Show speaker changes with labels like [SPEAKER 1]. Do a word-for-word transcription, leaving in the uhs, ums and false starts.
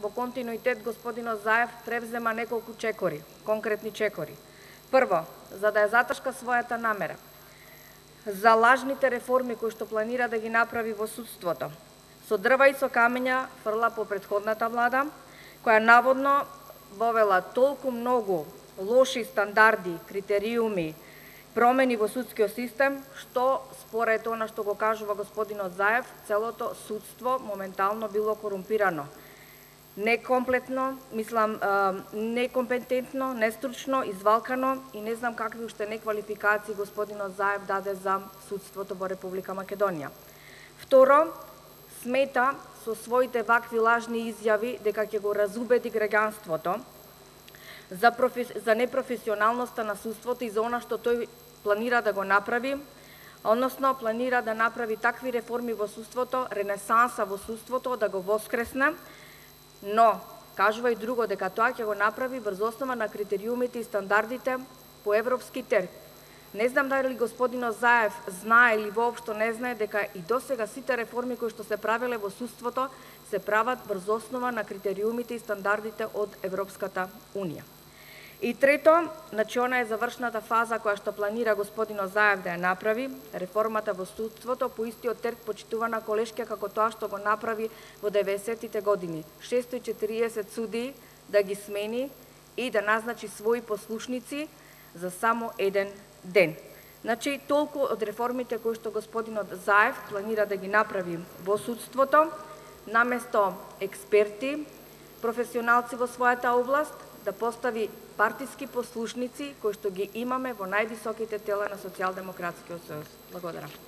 [SPEAKER 1] во континуитет господинот Заев превзема неколку чекори, конкретни чекори. Прво, за да ја заташка својата намера, за лажните реформи кои што планира да ги направи во судството, со дрва и со камења фрла по претходната влада, која наводно вовела толку многу лоши стандарди, критериуми, промени во судскиот систем, што според она што го кажува господинот Заев, целото судство моментално било корумпирано. Некомплетно, мислам, некомпетентно, нестручно, извалкано и не знам какви уште неквалификации господинот Заев даде за судството во Република Македонија. Второ, смета со своите вакви лажни изјави дека ќе го разубеди граѓанството за, профи... за непрофесионалноста на судството и за она што тој планира да го направи, односно планира да направи такви реформи во судството, ренесанса во судството, да го воскресне, но кажува и друго, дека тоа ќе го направи врз основа на критериумите и стандардите по европски терк. Не знам дали господинот Заев знае или воопшто не знае дека и досега сите реформи кои што се правеле во судството се прават врз основа на критериумите и стандардите од Европската Унија. И трето, значи она е завршната фаза која што планира господинот Заев да ја направи, реформата во судството по истиот терк почитувана колешка како тоа што го направи во деветдесеттите години. шестоста и четириесет судии да ги смени и да назначи своји послушници за само еден ден. Значи, толку од реформите кои што господинот Заев планира да ги направи во судството, наместо експерти, професионалци во својата област, да постави партиски послушници кои што ги имаме во највисоките тела на Социјалдемократскиот сојуз. Благодарам.